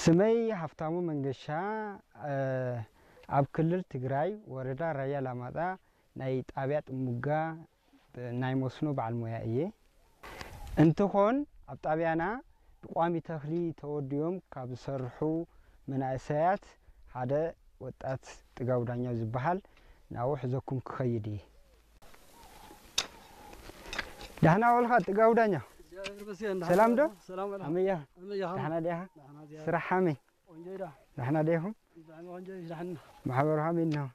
ስመይ ሃፍታሙ መንገሻ፣ እ፣ ኣብ ክልል ትግራይ ወረዳ ራያ ላማጣ ናይ ጣብያ ጥሙጋ ናይ መስኖ በዓል ሞያ እየ። እንትኾን ኣብ ጣብያና ብቋሚ ተኽሊ ተወዲቦም ካብ ዝሰርሑ መናእሰያት ሓደ ወጣት ጥጋቡ ዳኛው ዝበሃል ናብኡ ሕዘኩም ክኸይድ እየ። ዳሕና ወልኻ ጥጋቡ ዳኛው? እግዚኣብሔር ይመስገን፣ ሰላም ዶ? ሰላም ወላ። ኣመያ? ኣመያ፣ ዳሕና ዲኻ? ዳሕና ዚኣ። ስራሕ ሃመይ? ቆንጆ ኢዳ። ዳሕና ዲኹም? ብጣዕሚ ቆንጆ እዩ፣ ዳሕና። ማሕበሩ ሃመይ ነው?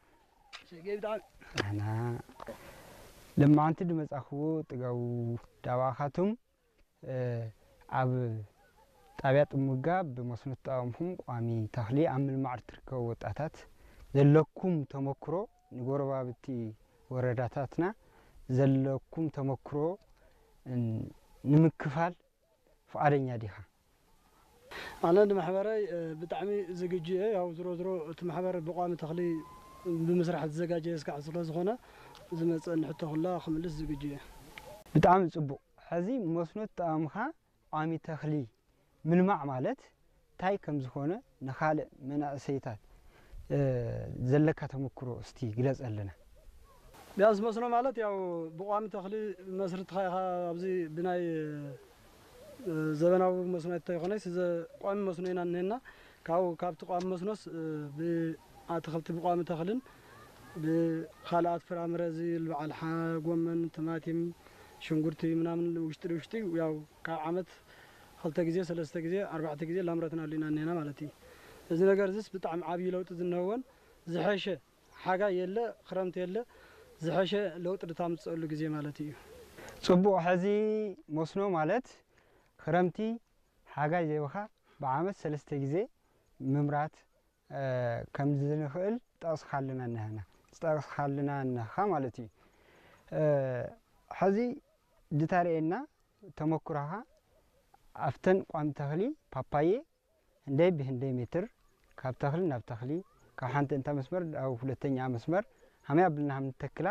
ሸገይ ብጣዕሚ። ዳሕና። ለማዓንቲ ድመጻኽዎ ጥጋቡ ዳባኻቱም፣ እ፣ ኣብ ጣብያ ጥሙጋ ብመስኖ ተጠቐምኩም ቋሚ ተኽሊ ኣብ ምልማዕ ትርከቡ ወጣታት ዘለኩም ተመክሮ ንጎረባብቲ ወረዳታትና ዘለኩም ተመክሮ ን-፣ ንምክፋል ፍቓደኛ ዲኻ? ኣነ ንማሕበረይ፣ እ፣ ብጣዕሚ ዝግጁ እየ። ያው ዝሮ ዝሮ እቲ ማሕበር ብቋሚ ተኽሊ ብምስራሕ ዝዘጋጀየ እስካዕ ስለ ዝኾነ ዝመፀኒ ሕቶ ኩላ ክምልስ ዝግጁ እየ። ብጣዕሚ ጽቡቕ። ሕዚ መስኖ ተጠቐምካ ቋሚ ተኽሊ ምልማዕ ማለት እንታይ ከም ዝኾነ ንኻልእ መናእሰይታት፣ እ፣ ዘለካ ተመክሮ እስቲ ግለጸልና። ቢያንስ መስኖ ማለት ያው ብቋሚ ተኽሊ መስርትኻ ኢኻ ኣብዚ ብናይ፣ እ፣ ዘበናዊ መስኖ እንተይኮነስ ዘ-፣ ቋሚ መስኖ ኢና እኒሀና። ካብኡ ካብቲ ቋሚ መስኖስ፣ እ፣ ብኣትኽልቲ ብቋሚ ተኽልን ብኻልኣት ፍራምረ እዚ በዓል ሓ-፣ ጎመን፣ ቲማቲም፣ ሽንጉርቲ ምናምን ውሽጢ ውሽጢ ያው ካብ ዓመት ክልተ ግዜ፣ ሰለስተ ግዜ፣ ኣርባዕተ ግዜ ላምረትናሉ ኢና እኒሀና ማለት እዩ። እዚ ነገር እዚስ ብጣዕሚ ዓብዪ ለውጢ ዝነህወን ዝሐሸ ሓጋይ የለ፣ ክረምቲ የለ፣ ዝሐሸ ለውጢ ድታምፅአሉ ግዜ ማለት እዩ። ጽቡቕ። ሕዚ መስኖ ማለት ክረምቲ፣ ሓጋይ ዘይብኻ ብዓመት ሰለስተ ግዜ ምምራት፣ እ፣ ከም ዝንኽእል ጠቕስኻልና እነህና፣ ዝጠቕስኻልና እነኻ ማለት እዩ። እ፣ ሕዚ ድታርየና ተመኩሮኻ ኣብተን ቋሚ ተኽሊ ፓፓየ ህንደይ ብህንደይ ሜትር ካብ ተኽሊ ናብ ተኽሊ፣ ካብ ሓንቲ እንታ መስመር ናብ ሁለተኛ መስመር ሃመይ ኣብልና ከም ንተክላ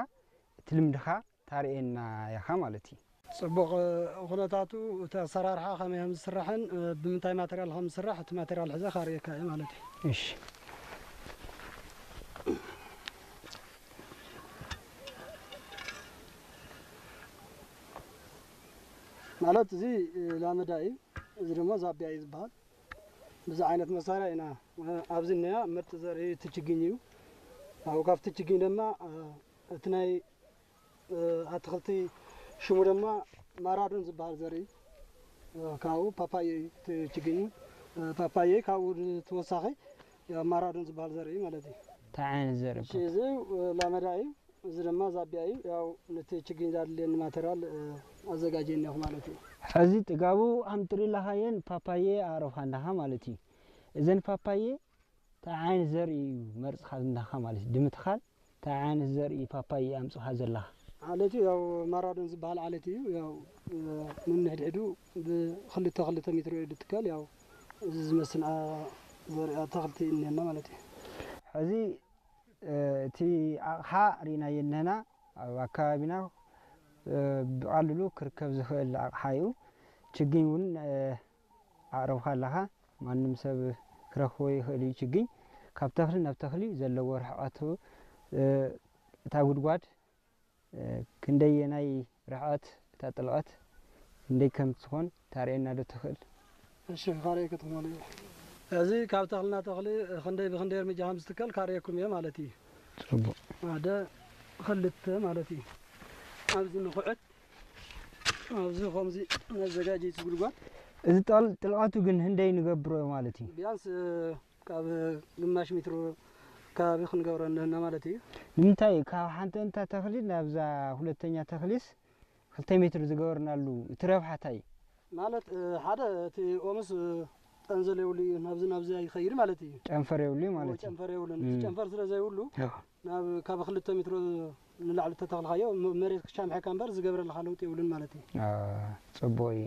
እቲ ልምድኻ ታርእየና ኢኻ ማለት እዩ። ጽቡቕ፣ እ፣ ኩነታቱ እቲ ኣሰራርሓ ከመይ ከም ዝስራሕን፣ እ፣ ብምንታይ ማተርያል ከም ዝስራሕ እቲ ማተርያል ሕዘ ካርእየካ እየ ማለት እዩ። እሺ። ማለት እዚ፣ እ፣ ላመዳ እዩ፣ እዚ ድማ ዛብያ እዩ ዝበሃል። ብዚ ዓይነት መሳርያ ኢና፣ እ፣ ኣብዚ እኒኣ ምርጥ ዘርኢ እቲ ችግኝ እዩ። ኣብኡ ካብቲ ችግኝ ድማ፣ እ፣ እቲ ናይ፣ እ፣ ኣትኽልቲ ሽሙ ድማ ማራዶን ዝበሃል ዘርኢ፣ እ፣ ካብኡ ፓፓየ እዩ እቲ ችግኝ። እ፣ ፓፓየ ካብኡ ተወሳኺ ያው ማራዶን ዝበሃል ዘርኢ ማለት እዩ። እንታይ ዓይነት ዘርኢ? እሺ፣ እዚ፣ እ፣ ላመዳ እዩ። እዚ ድማ ዛብያ እዩ። ያው ነቲ ችግኝ ዛድልየኒ ማተርያል፣ እ፣ ኣዘጋጅየ እኒኹ ማለት እዩ። ሕዚ ጥጋቡ ኣምጥሪላኻየን ፓፓየ ኣዕረፋ እንዳኻ ማለት እዩ። እዘን ፓፓየ እንታይ ዓይነት ዘርኢ እዩ መርጽኻ እንዳኻ ማለት እዩ። ድምትኻል እንታይ ዓይነት ዘርኢ ፓፓየ ኣምጽኻ ዘለኻ? ዓለት እዩ፣ ያው ማራዶን ዝበሃል ዓለት እዩ። ያው፣ እ፣ ንንሕድሕዱ ብክልተ ክልተ ሜትሮ እዩ ዝትከል። ያው እዚ ዝመስል፣ ኣ፣ ዘርኢ ኣትኽልቲ እኒሀና ማለት እዩ። ሕዚ፣ እ፣ እቲ ኣቕሓ ርኢናዮ እኒሀና። ኣብ ኣከባቢና፣ እ፣ ብቐሊሉ ክርከብ ዝኽእል ኣቕሓ እዩ። ችግኝ እውን፣ እ፣ ኣቕረብካ ኣለኻ። ማንም ሰብ ክረኽቦ ይኽእል እዩ። ችግኝ ካብ ተኽሊ ናብ ተኽሊ ዘለዎ ርሕቐቱ፣ እ፣ እታ ጉድጓድ፣ እ፣ ክንደየናይ ርሕቐት፣ እታ ጥልቐት ክንደይ ከም ትኾን ታርእየና ዶ ትኽእል? እሺ፣ ካርእየካ ትኾን። እዚ ካብ ተኽልና ተኽሊ ክንደይ ብክንደይ እርምጃ ከም ዝትከል ካርእየኩም እየ ማለት እዩ። ጽቡቕ። ሓደ፣ ክልተ ማለት እዩ። ኣብዚ ንኹዕት፣ ኣብዚ ከምዚ መዘጋጀይቲ ጉድጓድ። እዚ ጠል-፣ ጥልቐቱ ግን ህንደይ ንገብሮ ማለት እዩ? ቢያንስ፣ እ፣ ካብ ግማሽ ሜትሮ ከባቢ ክንገብሮ ኣለና ማለት እዩ። ንምንታይ ካብ ሓንቲ እንታ ተኽሊ ናብዛ ሁለተኛ ተኽሊስ ክልተ ሜትር ዝገበርናሉ እቲ ረብሓ እንታይ እዩ? ማለት፣ እ፣ ሓደ እቲ ኦምስ፣ እ፣ ጠንዘል የብሉ እዩ፣ ናብዚ ናብዚ ኣይኸይድ ማለት እዩ። ጨንፈር የብሉ ማለት እዩ። ጨንፈር የብሉን። እቲ እም። ጨንፈር ስለ ዘይብሉ፣ ያው። ናብ ካብ ክልተ ሜትሮ ንላዕሊ ተተኽልካዮ፣ ም-፣ መሬት ክሻምሐካ እምበር ዝገብረልካ ለውጢ የብሉን ማለት እዩ። አ፣ ጽቡቕ እዩ።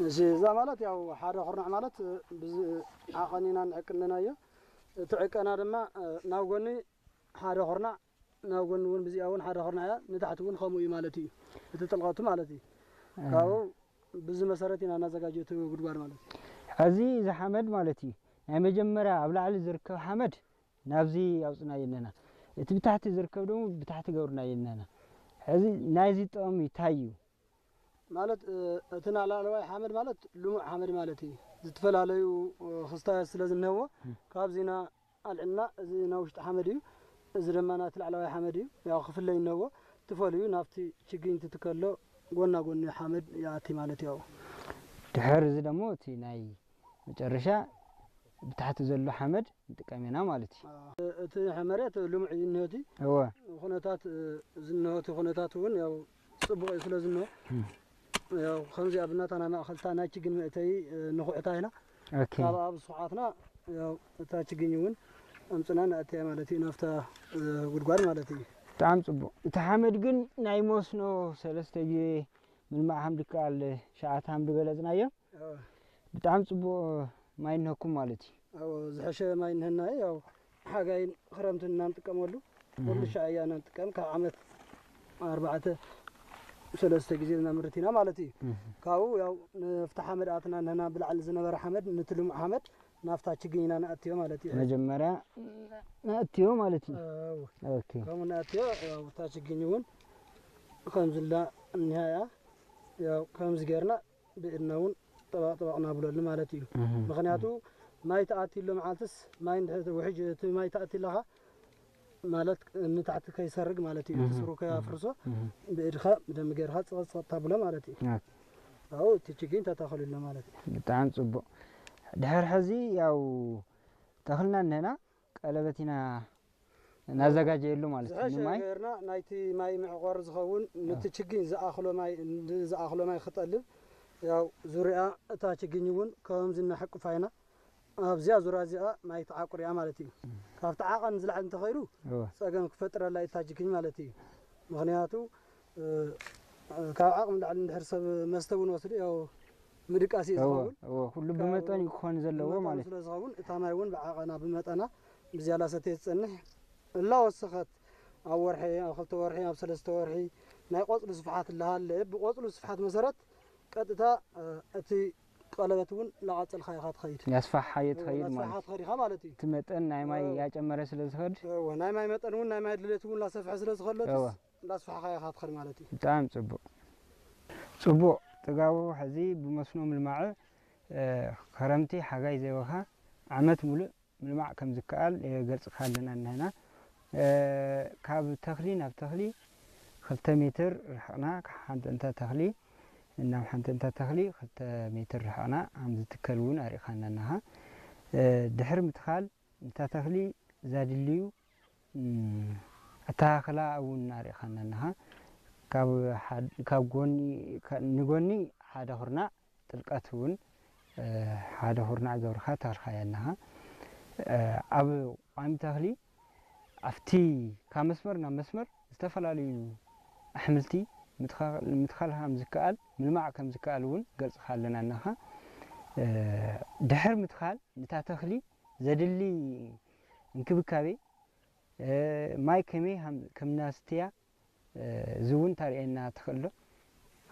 እሺ፣ እዛ ማለት ያው ሓደ ኩርናዕ ማለት፣ እ፣ ብዚ ዓቐን ኢና ንዕቅን ኣለናዮ። እቲ ዕቀና ድማ፣ እ፣ ናብ ጎኒ ሓደ ኩርናዕ፣ ናብ ጎኒ እውን ብዚኣ እውን ሓደ ኩርናዕ እያ፣ ንታሕቲ እውን ከምኡ እዩ ማለት እዩ። እቲ ጥልቐቱ ማለት እዩ። እ። ካብኡ ብዚ መሰረት ኢና እናዘጋጀ እቲ ጉድጓድ ማለት እዩ። ሕዚ እዚ ሓመድ ማለት እዩ ናይ መጀመርያ ኣብ ላዕሊ ዝርከብ ሓመድ ናብዚ ኣውፅናዮ ኣለና። እቲ ብታሕቲ ዝርከብ ደግሞ ብታሕቲ ገብርናዮ ኣለና። ሕዚ ናይዚ ጥቕሚ እንታይ እዩ? ማለት እቲ ላዕለዋይ ሓመድ ማለት ልሙዕ ሓመድ ማለት እዩ። ዝተፈላለዩ ክስታያት ስለ ዝነዎ ካብዚና ኣልዕልና እዚ ናይ ውሽጢ ሓመድ እዩ። እዚ ድማ ናቲ ላዕለዋይ ሓመድ እዩ። ያው ክፍለይ እነዎ ትፈልዩ ናብቲ ችግኝ ትትከሎ ጎና ጎኒ ሓመድ ይኣቲ ማለት ያው ድሕር እዚ ደግሞ እቲ ናይ መጨረሻ ብታሕቲ ዘሎ ሓመድ ንጥቀም ኢና ማለት እዩ። እቲ መሬት ልሙዕ እዩ እነሆቲ እወ ኩነታት ዝነሆቲ ኩነታት እውን ያው ጽቡቕ እዩ ስለ ዝንሆ ያው ከምዚኣ ብናታና ማእኸልታ ናይ ችግኝ መእተይ ንኹዕታ ኢና ኦኬ ካብ ኣብ ስኹዓትና ያው እታ ችግኝ እውን ኣምፅና ንኣተያ ማለት እዩ ናብታ ጉድጓድ ማለት እዩ። ብጣዕሚ ፅቡቅ። እቲ ሓመድ ግን ናይ መስኖ ሰለስተ ግዜ ምልማዕ ከም ድከኣል ሸዓት ከም ድገለፅናዮ ብጣዕሚ ፅቡቅ ማይ እነኩም ማለት እዩ። ዝሐሸ ማይ እነሀና ያው ሓጋይን ክረምትን እናንጥቀመሉ ኩሉ ሻዕ እያ እናንጥቀም ካብ ዓመት ኣርባዕተ ሰለስተ ግዜ እናምርት ኢና ማለት እዩ። ካብኡ ያው ንፍቲ ሓመድ ኣትና እነሀና ብላዕሊ ዝነበረ ሓመድ ንትልሙ ሓመድ ናፍታ ችግኝ ኢና ንኣትዮ ማለት እዩ። መጀመርያ ንኣትዮ ማለት እዩ። ኦኬ ከምኡ ንኣትዮ ያው እታ ችግኝ እውን ከምዝላ እኒሃ እያ ያው ከምዚ ጌርና ብኢድና እውን ጠባቕ ጠባቕ ናብለሉ ማለት እዩ። ምክንያቱ ማይ ተኣትዩሎ መዓልትስ ማይ እንድሕር ውሕጅ እቲ ማይ ተኣትዩ ኣለኻ ማለት ንታሕቲ ከይሰርግ ማለት እዩ። እቲ ስሩ ከያፍርሶ ብኢድኻ ብደንቢ ጌርካ ጽቐት ጽቐት ታብሎ ማለት እዩ። ኣብኡ እቲ ችግኝ ተተኸሉሎ ማለት እዩ። ብጣዕሚ ጽቡቕ። ድሕር ሕዚ ያው ተኽልና እነና ቀለበት ኢና እናዘጋጀየሉ ማለት እዩ። ዝሐሸ ንማይ ገርና ናይቲ ማይ መዕቆሪ ዝኸውን ነቲ ችግኝ ዝኣኽሎ ማይ ዝኣኽሎ ማይ ክጠልብ ያው ዙሪያ እታ ችግኝ እውን ከምዚ እናሐቅፋ ኢና ኣብዚኣ ዙሪያ እዚኣ ማይ ተዓቁር እያ ማለት እዩ። ካብቲ ዓቐን ዝለዓል እንተኸይዱ እወ ጸገም ክፈጥረላ እዩ እታ ችግኝ ማለት እዩ። ምኽንያቱ ካብ ዓቕሚ ላዕሊ እንድሕር ሰብ መስተ እውን ወስዱ ያው ምድቃስ እዩ ዝኸውን። እወ ኩሉ ብመጠን እዩ ክኾን ዘለዎ ማለት እዩ። ስለ ዝኸውን እታ ማይ እውን ብዓቐና ብመጠና ብዝያዳ ሰተየ ትጸንሕ እላወሰኸት ኣብ ወርሒ ኣብ ክልተ ወርሒ ኣብ ሰለስተ ወርሒ ናይ ቆጽሉ ስፍሓት እላሃለ ብቆጽሉ ስፍሓት መሰረት ቀጥታ እቲ ቀለበት እውን ላቐጸልካ ኢኻ ትኸይድ። ያስፋሓዮ ትኸይድ ማለት ናስፋሓ ትኸድ ኢኻ ማለት እዩ። እቲ መጠን ናይ ማይ ያጨመረ ስለ ዝኸድ እወ ናይ ማይ መጠን እውን ናይ ማይ ድሌት እውን ላሰፍሐ ስለ ዝኸለትስ እወ እንዳስፋሕኻዮ ኢኻ ትኸድ ማለት እዩ። ብጣዕሚ ጽቡቕ። ጽቡቕ ጥጋቡ ሕዚ ብመስኖ ምልማዕ ክረምቲ ሓጋይ ዘይወኻ ዓመት ሙሉእ ምልማዕ ከም ዝከኣል የገልጽካ ኣለና እንህና። ካብ ተኽሊ ናብ ተኽሊ ክልተ ሜትር ርሕቕና ሓንቲ እንተ ተኽሊ ናብ ሓንቲ እንተ ተኽሊ ክልተ ሜትር ርሕቕና ከም ዝትከል እውን ኣርእኻና ኣለኻ። ድሕሪ ምትኻል ንታ ተኽሊ ዘድልዩ ኣተኻኽላ እውን ኣርእኻና ኣለኻ። ካብ ሓድ- ካብ ጎኒ ካ- ንጎኒ ሓደ ኩርናዕ ጥልቀት እውን ሓደ ኩርናዕ ገብርካ ተኽልካያ ኣለኻ። ኣብ ቋሚ ተኽሊ ኣብቲ ካብ መስመር ናብ መስመር ዝተፈላለዩ ኣሕምልቲ ምትኻል ከም ዝከኣል ምልማዕ ከም ዝከኣል እውን ገልፅካ ኣለና ኣለኻ። ድሕር ምትኻል ንታ ተኽሊ ዘድሊ እንክብካቤ ማይ ከመይ ከም እናስትያ እዚ እውን ታርእየና ትኽእል ዶ?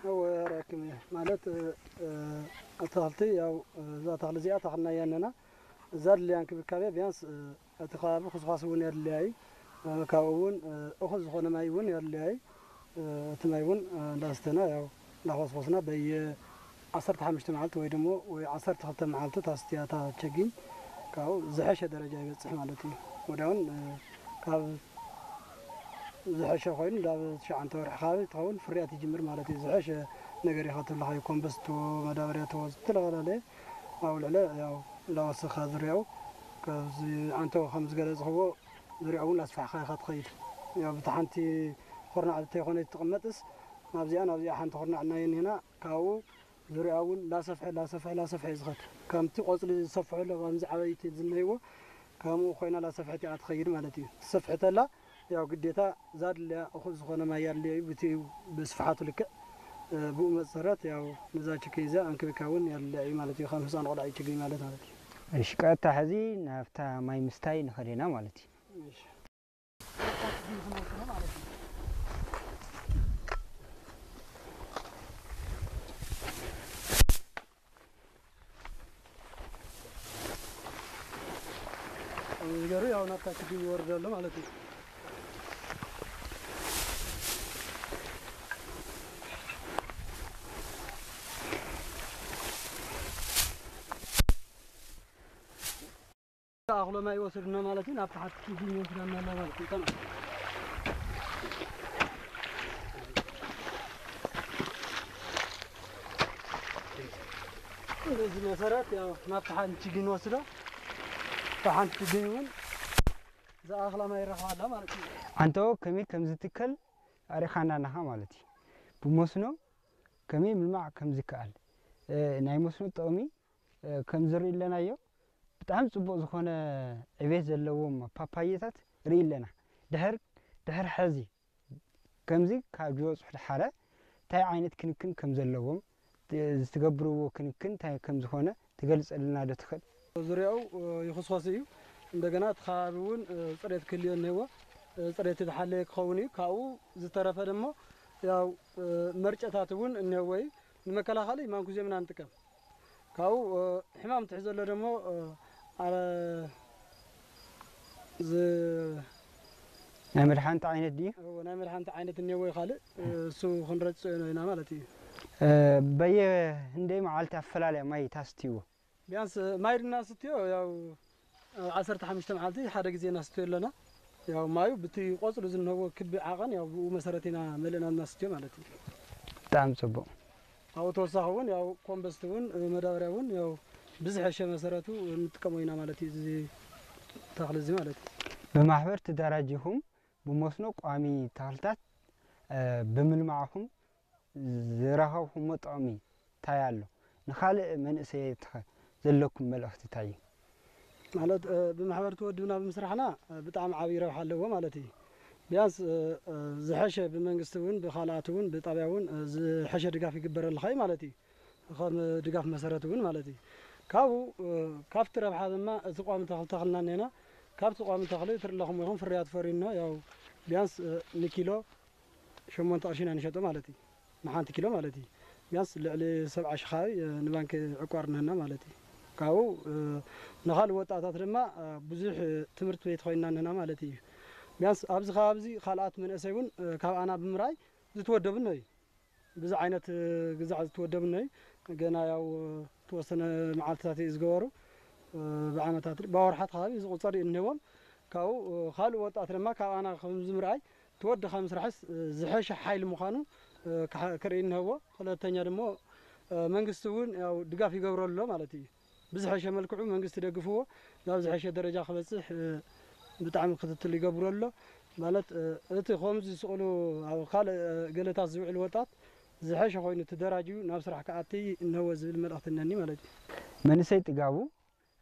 እወ ኣርእየኩም እየ። ማለት ኣትኽልቲ ያው እዛ ተኽሊ እዚኣ ተኽልናያ ኣለና። እዛ ድልያ እንክብካቤ ቢያንስ እቲ ከባቢ ኹስኳስ እውን የድልያ እዩ። ካብኡ እውን እኹል ዝኾነ ማይ እውን የድልያ እዩ። እቲ ማይ እውን እንዳስተና ያው እንዳኾስኮስና በየ ዓሰርተ ሓሙሽተ መዓልቲ ወይ ደሞ ወይ ዓሰርተ ክልተ መዓልቲ ታስትያ እታ ችግኝ ካብኡ ዝሐሸ ደረጃ ይበፅሕ ማለት እዩ። ወዲያውን ካብ ዝሐሸ ኮይኑ ናብ ትሽዓተ ወርሒ ከባቢ ትኸውን ፍርያት ይጅምር ማለት እዩ። ዝሐሸ ነገር ኢኻ ትብልኻዮ ኮምበስቶ መዳበርያቶ ዝተፈላለየ ኣብኡ ልዕለ ያው እንዳወሰኻ ዝርያኡ ካብዚ ዓንቶ ከም ዝገለፅኽዎ ዝርያኡ እውን ኣስፋሕኻ ኢኻ ትኸይድ። ያው ብቲ ሓንቲ ኩርናዕ እንተይኮነ ትቕመጥስ ናብዚኣ ናብዚኣ ሓንቲ ኩርናዕ እናየኒህና ካብኡ ዙርያ እውን ላሰፍሐ ላሰፍሐ ላሰፍሐ እዩ ዝኸድ። ከምቲ ቆፅሊ ዝሰፍሐ ኣሎ ከምዚ ዓበይቲ ዝነይዎ ከምኡ ኮይና ላሰፍሐት እያ ትኸይድ ማለት እዩ። ትሰፍሐተላ ያው ግዴታ ዛድልያ እኹል ዝኾነ ማይ ኣድልዮ እዩ ብቲ ብስፍሓቱ ልክዕ ብኡ መሰረት ያው ነዛ ችግኝ እዚኣ እንክብካውን ያድልያ እዩ ማለት እዩ። ከም ህፃን ቆልዓ እዩ ችግኝ ማለት ማለት እዩ። እሺ ቀጥታ ሕዚ ናብታ ማይ ምስታይ ንኸደና ማለት እዩ። እሺ። ዝገሩ ያው ናብታ ችግኝ ይወርድ ኣሎ ማለት እዩ። ኣኽሎ ማይ ይወስድና ማለት እዩ። ናብ ታሕቲ ችግኝ ይወስዳና ኣሎ ማለት እዩ። ተመልከት። በዚህ መሰረት ያው ናብ ታሓንቲ ችግኝ ወስዶ ታሓንቲ ችግኝ እውን ዝኣኽላ ማይ ይረኽባ ኣሎ ማለት እዩ። ዓንተቦ ከመይ ከም ዝትከል ኣሪኻና ኣለኻ ማለት እዩ። ብመስኖ ከመይ ምልማዕ ከም ዝከኣል፣ እ፣ ናይ መስኖ ጥቕሚ፣ እ፣ ከም ዝርኢ ኣለናዮ። ብጣዕሚ ጽቡቕ ዝኾነ ዕቤት ዘለዎም ፓፓየታት ርኢ ኣለና። ድሕር፣ ድሕር ሕዚ ከምዚ ካብ ዝበጽሑ ደሓረ እንታይ ዓይነት ክንክን ከም ዘለዎም፣ ት-፣ ዝትገብርዎ ክንክን እንታይ ከም ዝኾነ ትገልጸልና ዶ ትኽእል? ዙርያኡ፣ እ፣ ይኹስኸስ እዩ። እንደገና እቲ ከባቢ እውን፣ እ፣ ጽሬት ክህልዮ እኒሄዎ። እ፣ ጽሬት ዝሓለየ ክኸውን እዩ። ካብኡ ዝተረፈ ደሞ ያው፣ እ፣ መርጨታት እውን እኒሄዎ እዩ። ንመከላኸሊ ማንኩዜም ኢና ንጥቀም። ካብኡ፣ እ፣ ሕማም ትሕ ዘሎ ደሞ፣ እ፣ ኣረ-፣ ዝ-፣ ናይ መድሓንቲ ዓይነት ድዩ? እዎ፣ ናይ መድሓንቲ ዓይነት እኒሄዎ እዩ ካልእ፣ እ፣ እሱ ክንረጽኦ ኢና ማለት እዩ። እ፣ በየ ህንደይ መዓልቲ ኣፈላልያ ማይ ታስትይዎ? ቢያንስ፣ እ፣ ማይ ድና ስትዮ ያው፣ እ፣ ዓሰርተ ሓሙሽተ መዓልቲ ሓደ ግዜ ናስትዮ ኣለና። ያው ማዩ ብቲ ቆጽሉ ዝንህዎ ክቢ ዓቐን ያው ብኡ መሰረት ኢና መሊእና እናስትዮ ማለት እዩ። ብጣዕሚ ጽቡቕ። ኣብኡ ተወሳኺ እውን ያው ኮምበስት እውን፣ እ፣ መዳበርያ እውን ያው ብዝሐሸ መሰረቱ እንጥቀሞ ኢና ማለት እዩ። እዚ ተኽሊ እዚ ማለት እዩ። ብማሕበር ተደራጂኹም ብመስኖ ቋሚ ተኽልታት፣ እ፣ ብምልማዕኹም ዝረኸብኹሞ ጥቕሚ እንታይ ኣሎ? ንኻልእ መንእሰያትኸ ዘለኩም መልእኽቲ እንታይ እዩ? ማለት፣ እ፣ ብማሕበር ተወድብና ብምስራሕና፣ እ፣ ብጣዕሚ ዓብዪ ረብሓ ኣለዎ ማለት እዩ። ቢያንስ፣ እ፣ እ፣ ዝሐሸ ብመንግስቲ እውን ብኻልኣት እውን ብጣብያ እውን፣ እ፣ ዝሐሸ ድጋፍ ይግበረልኻ እዩ ማለት እዩ። ከም ድጋፍ መሰረት እውን ማለት እዩ። ካብኡ፣ እ፣ ካብቲ ረብሓ ድማ እቲ ቋሚ ተኽሊ ተኽልና እኒሄና። ካብቲ ቋሚ ተኽሊ ትርኢ ኣለኹም ኢኹም ፍርያት ፈርዩና ያው ቢያንስ፣ እ፣ ንኪሎ ሸሞንተ ቅርሺ ኢና ንሸጦ ማለት እዩ። ንሓንቲ ኪሎ ማለት እዩ። ቢያንስ ልዕሊ ሰብዓ ሺሕ ከባቢ፣ እ፣ ንባንክ ዕቋር እኒሀና ማለት እዩ። ካብኡ፣ እ፣ ንኻልእ ወጣታት ድማ፣ እ፣ ብዙሕ፣ እ፣ ትምህርቲ ቤት ኮይንና እኒሀና ማለት እዩ። ቢያንስ ኣብዚ ከባቢ እዚ ካልኣት መንእሰይ እውን፣ እ፣ ካብ ኣና ብምርኣይ ዝተወደቡ እኒሀዩ። ብዙሕ ዓይነት፣ እ፣ ግዛዕ ዝተወደቡ እኒሀዩ። ገና ያው፣ እ፣ ተወሰነ መዓልትታት እዩ ዝገበሩ። እ፣ ብዓመታት፣ ብኣውርሓት ከባቢ ዝቑጸር እዩ እኒሄዎም። ካብኡ፣ እ፣ ካልእ ወጣት ድማ ካብ ኣና ከም ዝምርኣይ ተወዲ ካብ ምስራሕስ፣ እ፣ ዝሐሸ ሓይሊ ምዃኑ፣ እ፣ ክሓ-፣ ክርኢ እንሀዎ። ክልተኛ ደሞ፣ እ፣ መንግስቲ እውን ያው ድጋፍ ይገብሮ ኣሎ ማለት እዩ። ብዝሐሸ መልክዑ መንግስቲ ደግፍዎ ናብ ዝሐሸ ደረጃ ክበጽሕ፣ እ፣ ብጣዕሚ ክትትል ይገብሮ ኣሎ። ማለት፣ እ፣ እቲ ከምዚ ዝስቕሉ ኣብ ካልእ፣ እ፣ ገለታት ዝውዕል ወጣት ዝሐሸ ኮይኑ ተደራጅዩ ናብ ስራሕ ክኣቲ እንሀዎ ዝብል መልእኽቲ እነኒ ማለት እዩ። መንእሰይ ጥጋቡ፣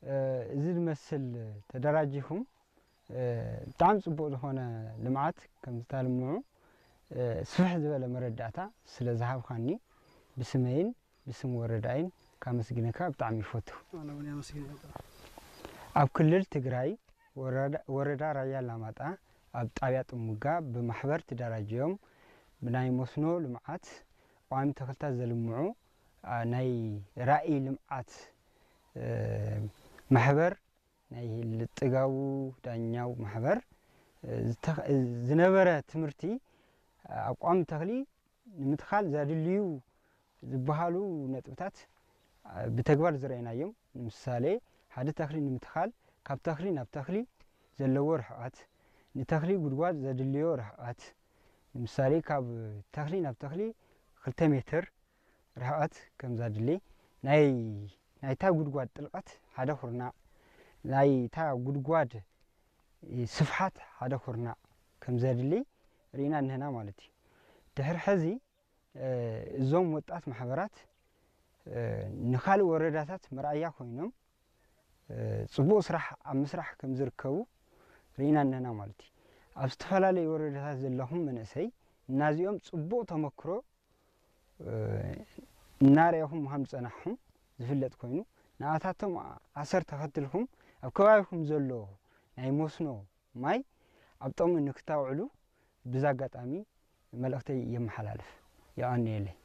እ፣ እዚ ዝመስል ተደራጂኹም፣ እ፣ ብጣዕሚ ጽቡቕ ዝኾነ ልምዓት ከም ዝተልምዑ፣ እ፣ ስፍሕ ዝበለ መረዳእታ ስለ ዝሃብካኒ ብስመይን ብስም ወረዳይን ካመስግነካ ብጣዕሚ ይፈቱ። ኣነ እውን የመስግን። ኣብ ክልል ትግራይ ወረዳ፣ ወረዳ ራያ ኣላማጣ ኣብ ጣብያ ጥሙጋ ብማሕበር ተደራጅዮም ብናይ መስኖ ልምዓት ቋሚ ተኽልታት ዘልምዑ፣ ኣ፣ ናይ ራእይ ልምዓት፣ እ፣ ማሕበር ናይ ጥጋቡ ዳኛው ማሕበር፣ እ፣ ዝተኸ-፣ ዝነበረ ትምህርቲ ኣብ ቋሚ ተኽሊ ንምትኻል ዘድልዩ ዝበሃሉ ነጥብታት፣ እ፣ ብተግባር ዝረኣናዮም። ንምሳሌ፣ ሓደ ተኽሊ ንምትኻል ካብ ተኽሊ ናብ ተኽሊ ዘለዎ ርሕቐት፣ ንተኽሊ ጉድጓድ ዘድልዮ ርሕቐት፣ ንምሳሌ፣ ካብ ተኽሊ ናብ ተኽሊ ክልተ ሜትር ርሕቐት ከም ዘድሊ፣ ናይ፣ ናይታ ጉድጓድ ጥልቐት ሓደ ኩርናዕ፣ ናይታ ጉድጓድ ስፍሓት ሓደ ኩርናዕ ከም ዘድሊ ርኢና እኒሀና ማለት እዩ። ድሕሪ ሕዚ፣ እ፣ እዞም ወጣት ማሕበራት፣ እ፣ ንኻልእ ወረዳታት መርኣያ ኮይኖም፣ እ፣ ጽቡቕ ስራሕ ኣብ ምስራሕ ከም ዝርከቡ ርኢና እኒሀና ማለት እዩ። ኣብ ዝተፈላለዩ ወረዳታት ዘለኹም መንእሰይ፣ እናዚኦም ጽቡቕ ተመክሮ፣ እ፣ እናርኣኹም ምዃን ዝጸናሕኹም ዝፍለጥ ኮይኑ፣ ንኣታቶም ኣሰር ተኸትልኩም ኣብ ከባቢኹም ዘሎ ናይ መስኖ ማይ ኣብ ጥቕሚ ንክታውዕሉ ብዛ ኣጋጣሚ መልእኽተይ የመሓላልፍ። የቐንየለይ።